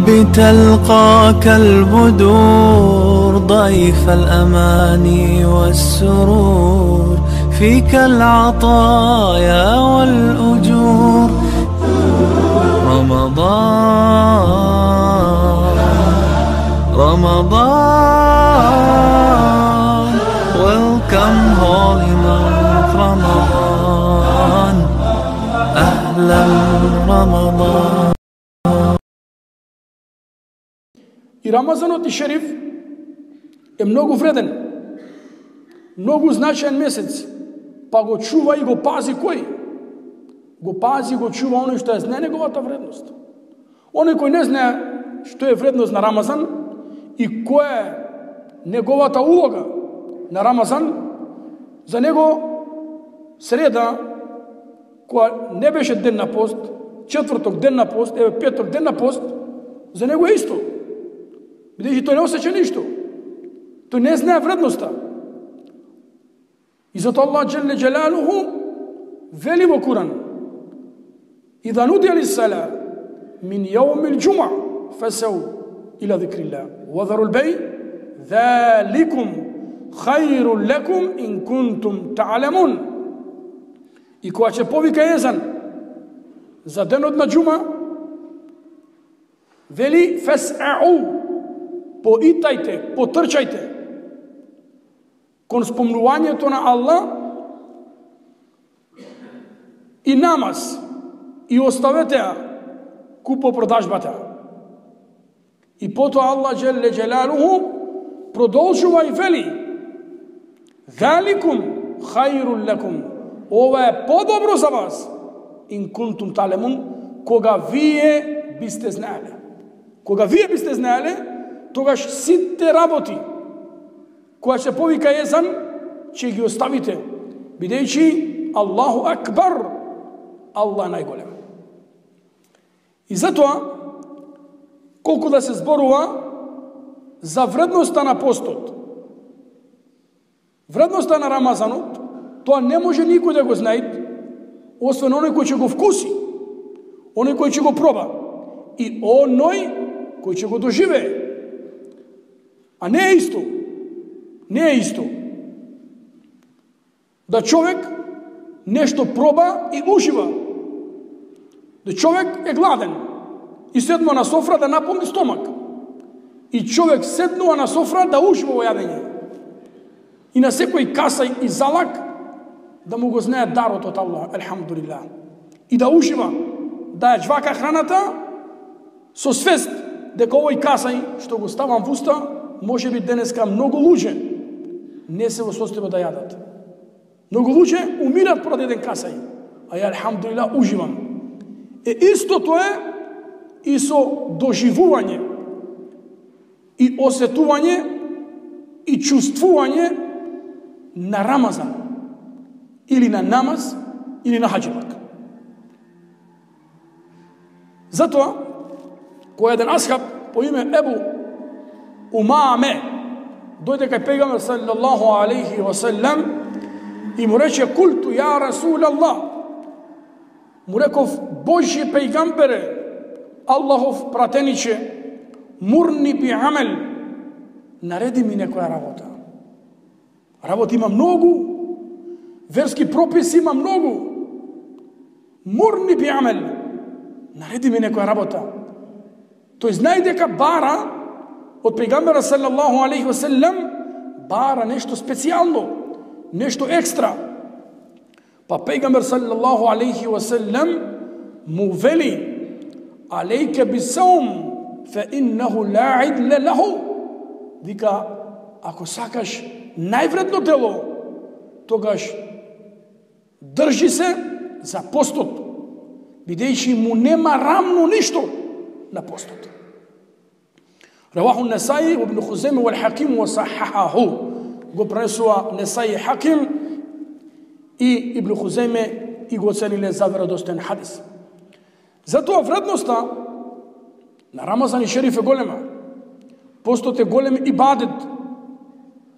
بتلقاك البدور ضيف الأماني والسرور فيك العطايا والأجور رمضان welcome holy month رمضان أهلا رمضان. И Рамазанот и Шериф е многу вреден, многу значаен месец, па го чува и го пази кој? Го пази, го чува оној што ја знае неговата вредност. Оној кој не знае што е вредност на Рамазан и која е неговата улога на Рамазан, за него среда, која не беше ден на пост, четврток ден на пост, петок ден на пост, за него е исто. Бидејќи тој не осеќа ништо. Тој не знае вредноста. И затоа Аллах Джелле Джелалуху вели во Куран: "Иза нудия лис-сала мин јаумил џумуа фасау ила зикрилlah ва зарул бей заликум хајрун лакум ин кунтум та'ламун." И кога ќе повика езан за денот на џума, вели фасау, поитајте, потрчајте кон спомнувањето на Аллах и намаз, и оставете ја купопродажбата. И потоа Аллах Джелле Джелалуху продолжува и вели: "Заликум хајрун лакум." Ова е подобро за вас, ин кунтум та'ламун, кога вие бисте знаеле. Кога вие бисте знаеле, тогаш сите работи која ќе повика езан, ќе ги оставите, бидејќи Аллаху акбар, Аллах е најголем. И затоа, колку да се зборува за вредноста на постот, вредноста на Рамазанот, тоа не може никој да го знае, освен оној кој ќе го вкуси, оној кој ќе го проба и оној кој ќе го доживее. А не е исто. Не е исто да човек нешто проба и ужива. Да човек е гладен и седнува на софра да наполни стомак. И човек седнува на софра да ужива во јадење. И на секој касај и залак да му го знае дарот од Аллах, елхамдулилlah. И да ужива, да ја џвака храната со свест дека овој касај што го ставам во уста, може би денеска многу луѓе не се во состојба да јадат. Многу луѓе умират поради еден касај, а ја елхамдулилlah уживам. Истото е и со доживување и осетување и чувствување на Рамазан или на намаз или на хаџилак. Затоа, кој еден асхаб по име Ебу Умаме дојде кај пејгамбер саллаллаху алейхи ва саллам и му рече: "Култу ја Расул Аллах." Му реков: "Божји пејгамбере, Аллахов пратениче, мурни би амел, нареди ми некоја работа." Работа има многу, верски прописи има многу. Мурни би амел, нареди ми некоја работа. Тој знае дека бара од пејгамбера саллаллаху алейхи ва саллам, бара нешто специјално, нешто екстра. Па пејгамбер саллаллаху алейхи ва саллам му вели: "Алейка бисаум фа иннаху ла идла лаху." Вика, ако сакаш највредно дело, тогаш држи се за постот, бидејќи му нема рамно ништо на постот. Раваху Несаи, Ибн Хузейме вал Хаким ва сахахаху. Го пренесува Несаи Хаким и Ибн Хузейме и го оцениле за веродостоен хадис. Затоа вредноста на Рамазан и Шериф е голема. Постот е голем ибадет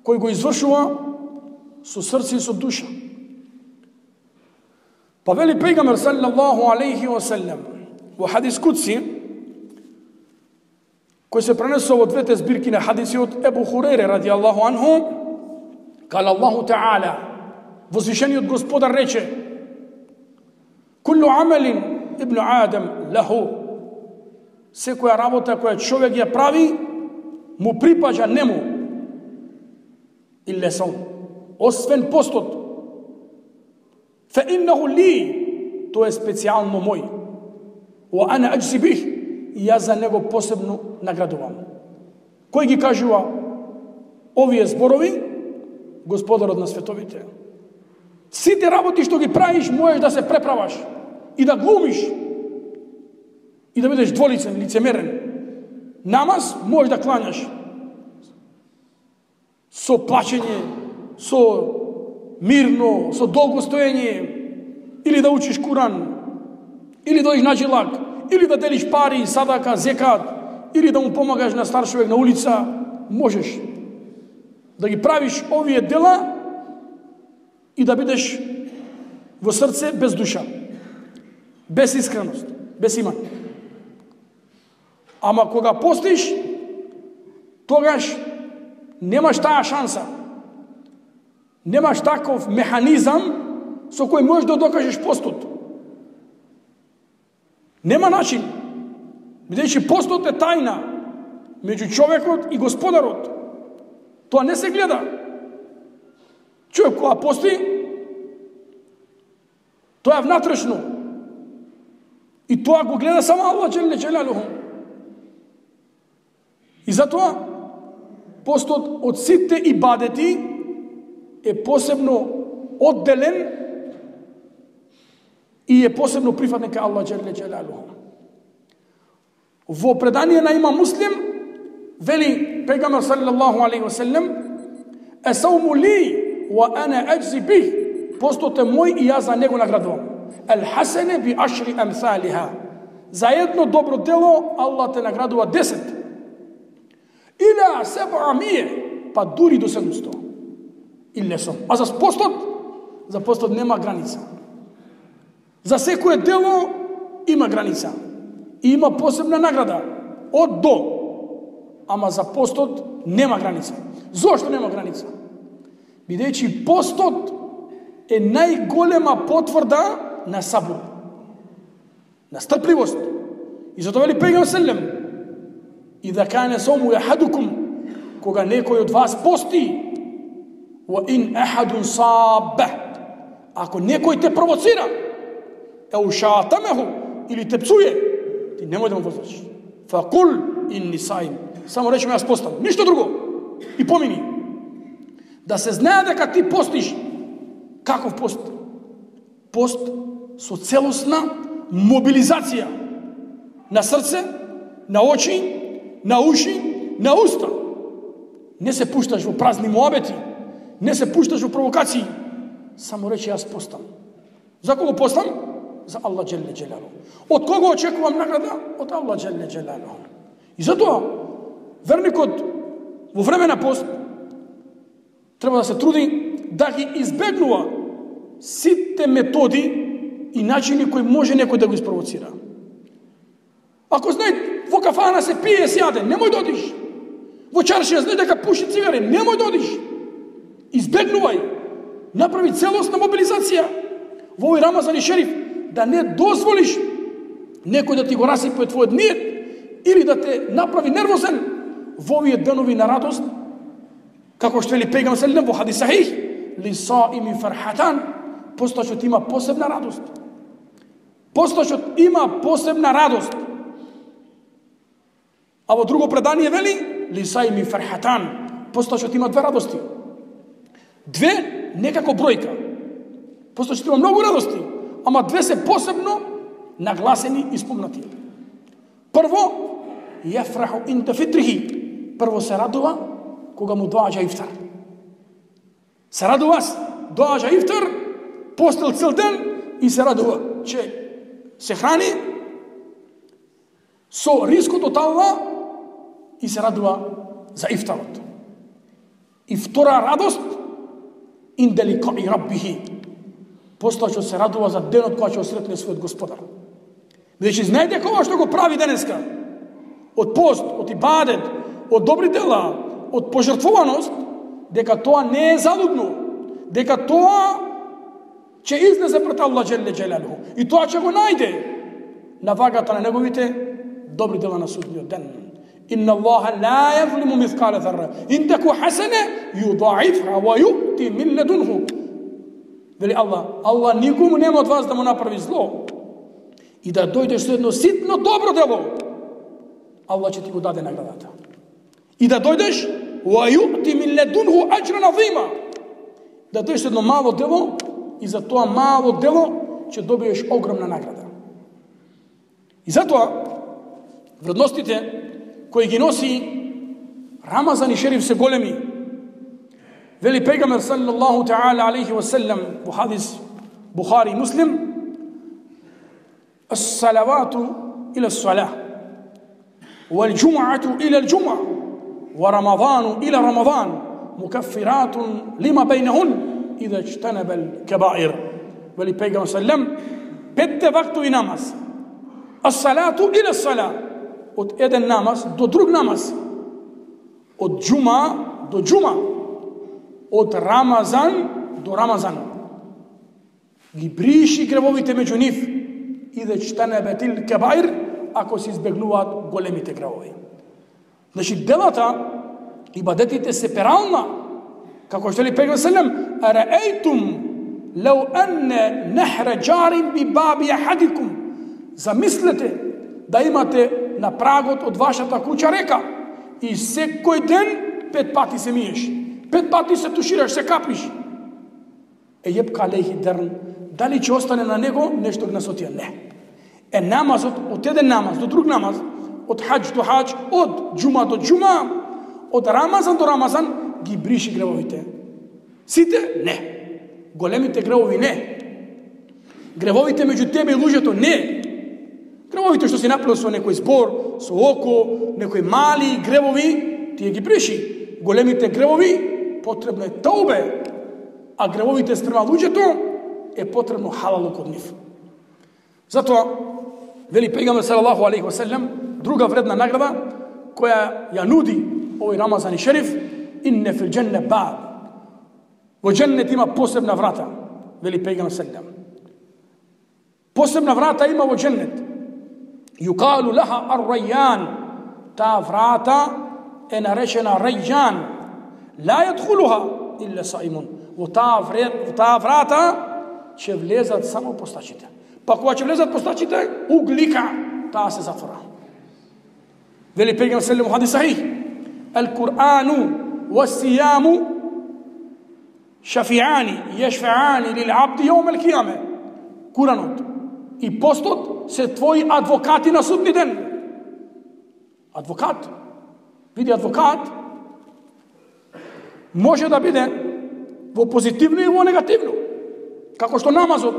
кој го извршува со срце и со душа. Па вели пејгамбер саллаллаху алейхи ва саллам во хадис кудси: кој се пренесува во двете збирки на хадиси од Ебу Хурейре радијаллаху анху, кала Аллаху Таala, возвишениот Господар рече: Куллу амалин ибну Адам лаху, секоја работа која човек ја прави, му припаѓа нему, илле саум, освен постот. Фа иннаху ли, тоа е специјално мој. Ва ана аджзи бих, и јас за него посебно наградувам. Кој ги кажува овие зборови? Господарот на световите. Сите работи што ги правиш, можеш да се преправаш и да глумиш и да бидеш дволицен, лицемерен. Намаз можеш да кланяш со плачење, со мирно, со долго стоење, или да учиш Куран, или да идеш на джилак, или да делиш пари, садака, зекат, или да му помагаш на стар човек на улица. Можеш да ги правиш овие дела и да бидеш во срце без душа, без искреност, без иман. Ама кога постиш, тогаш немаш таа шанса. Немаш таков механизам со кој можеш да докажеш постот. Нема начин, бидејќи постот е тајна меѓу човекот и Господарот. Тоа не се гледа. Човек кога пости, тоа е внатрешно. И тоа го гледа само Аллах џеле џелалуху. И затоа постот од сите ибадети е посебно одделен и е посебно прифатен кај Аллах џеле џелалуху. Во предание на имам Муслим вели пегамбер саллаллаху алейхи ва селлем: "Асауму ли ва ана аджзи бих", постот е мој и јас за него наградувам. "Ал хасане би ашри амсалиха", за едно добро дело Аллах те наградува 10. "Иля 700", па дури до 700. Иле сум. А за постот нема граница. За секое дело има граница. И има посебна награда од до. Ама за постот нема граница. Зошто нема граница? Бидејќи постот е најголема потврда на сабур, на стрпливост. И затоа вели пегамбер селлем: "Ида кане сому ахадукум", кога некој од вас пости, "Ва ин ахадун сабба", ако некој те провоцира, еу шатамеху, или те псуе, ти немој да му возврачиш. "Факул инни саим", само речи јас постам, ништо друго. И помини. Да се знае дека ти постиш. Каков пост? Пост со целосна мобилизација на срце, на очи, на уши, на уста. Не се пушташ во празни муабети, не се пушташ во провокации. Само речи јас постам. За кого постам? За Аллах џеле џелалуху. Од кого очекувам награда? Од Аллах џеле џелалуху. И затоа верникот во време на пост треба да се труди да ги избегнува сите методи и начини кои може некој да го испровоцира. Ако знае во кафана се пие, се јаде, немој да одиш. Во чаршија знае дека пуши цигари, немој да одиш. Избегнувај. Направи целосна мобилизација во овој Рамазан и Шериф, да не дозволиш некој да ти го расипе твојот ниет или да те направи нервозен во овие денови на радост, како што вели пегамбер селлем во хадис сахих: "Лисаими фархатан", постачот има посебна радост. Постачот има посебна радост. А во друго предание вели: "Лисаими фархатан", постачот има две радости. Две некако бројка. Постачот има многу радости, ама две се посебно нагласени и спомнати. Прво, јафраху инда фитрихи, прво се радува кога му доаѓа ифтар. Се радува, доаѓа ифтар, постел цел ден и се радува, че се храни со рискот од Аллах и се радува за ифтарот. И втора радост, инда ликаи раббихи, постачот се радува за денот кога ќе осретне својот Господар. Бидејќи знае дека ова што го прави денеска, од пост, од ибадет, од добри дела, од пожртвуваност, дека тоа не е залудно, дека тоа ќе излезе пред Аллах джелле джелалуху и тоа ќе го најде на вагата на неговите добри дела на судниот ден. Инна Аллаха ла јазлиму мискале зарра ин таку хасана юдаифха ва ю'ти мин ледунху. Вели Аллах никому нема од вас да му направи зло и да дојдеш со едно ситно добро дело, Аллах ќе ти го даде наградата. И да дојдеш ва ю'ти мин ледунху аџран азима, да дојдеш со едно мало дело и за тоа мало дело ќе добиеш огромна награда. И затоа вредностите кои ги носи Рамазан и Шериф се големи. Вели пегамбер саллаллаху таала алейхи ва саллям во хадис Бухари и Муслим: "Ас-салавату ила ас-салах, вал џум'ату ила ал-џум'a, ва рамадану ила рамадан, мукаффиратун лима бейнахун ида иджтанаба ал-кабаир." Вели пегамбер саллям: петте вактови намаз, ас-салату ила ас-салах, од еден намаз до друг намаз, од џума до џума, од Рамазан до Рамазан, ги бриши гревовите меѓу нив и да иджтанабатил кабаир, ако се избегнуваат големите гревови. Значи делата, ибадетите се перална, како што ли пегамбер селем: "Араейтум лау анна нахра џарин би баби ахадикум", замислете да имате на прагот од вашата куќа река и секој ден 5 пати се миеш, 5 пати се тушираш, се капиш. Ебка алейхи дерн, дали ќе остане на него нешто гнасотија? Не. Намазот, од еден намаз до друг намаз, од хаџ до хаџ, од џума до џума, од Рамазан до Рамазан, ги бриши гревовите. Сите? Не. Големите гревови? Не. Гревовите меѓу тебе и луѓето? Не. Гревовите што си направил со некој збор, со око, некои мали гревови, тие ги бриши. Големите гревови потребно е таубе, а гревовите спрема луѓето е потребно халал код нив. Затоа вели пегамбер салаллаху алейхи ва саллям друга вредна награда која ја нуди овој Рамазан и Шериф: инне фил џенне баб, во џеннет има посебна врата. Вели пегамбер саллям, посебна врата има во џеннет. Юкалу лаха ар-райјан, таа врата е наречена Рајјан. Ла јадхулуха илля саимун, во таа врата ќе влезат само постачите. Па кога ќе влезат постачите, углика, таа се затвора. Вели пегамбер селем во хадис сахих: "Ал-Кур'ану ва-сијаму шафи'ани јешфе'ани лил-абди јаум ал-кијаме." Куранот и постот се твои адвокати на судни ден. Адвокат, види, адвокат може да биде во позитивно и во негативно. Како што намазот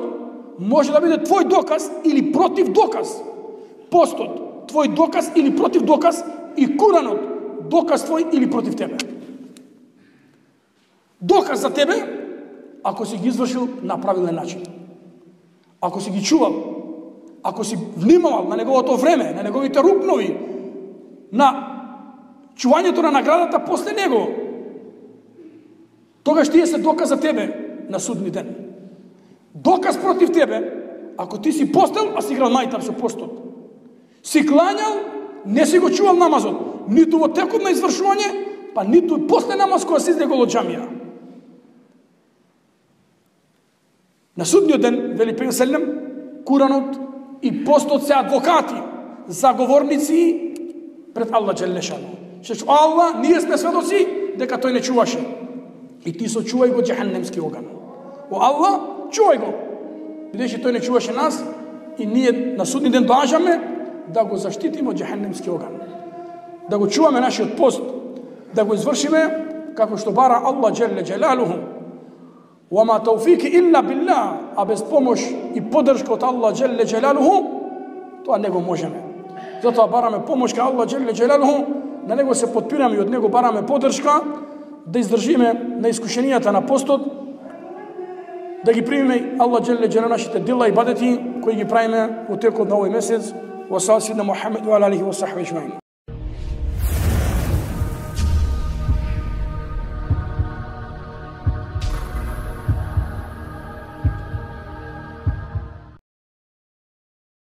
може да биде твој доказ или против доказ. Постот твој доказ или против доказ и Куранот доказ твој или против тебе. Доказ за тебе ако си ги извршил на правилен начин. Ако си ги чувал, ако си внимавал на неговото време, на неговите рукнови, на чувањето на наградата после него, тогаш тие се доказ за тебе на судни ден. Доказ против тебе, ако ти си постел, а си играл мајтап со постот. Си клањал, не си го чувал намазот, ниту во текот на извршување, па ниту после намаз која си излегол од џамија. На судниот ден, вели пегамбер селем, Куранот и постот се адвокати, заговорници пред Аллах джелле шану. Што Аллах, ние сме сведоци дека тој не чуваше. И ти сочувај го џехеннемски оган. О Аллах, чувај го. Бидејќи тој не чуваше нас и ние на судни ден доаѓаме да го заштитиме од џехеннемски оган. Да го чуваме нашиот пост, да го извршиме како што бара Аллах джелле джелалуху. Вама тауфики илла билlah, а без помош и поддршка од Аллах джелле джелалуху, тоа не го можеме. Затоа бараме помош кај Аллах джелле джелалуху, на него се подпираме и од него бараме поддршка да издржиме на искушенијата на постот, да ги примиме Аллах джелле джелалуху нашите дела и бадети кои ги правиме во текот на овој месец. Wa sallallahu Muhammad wa alihi wa sahbihi ajma'in.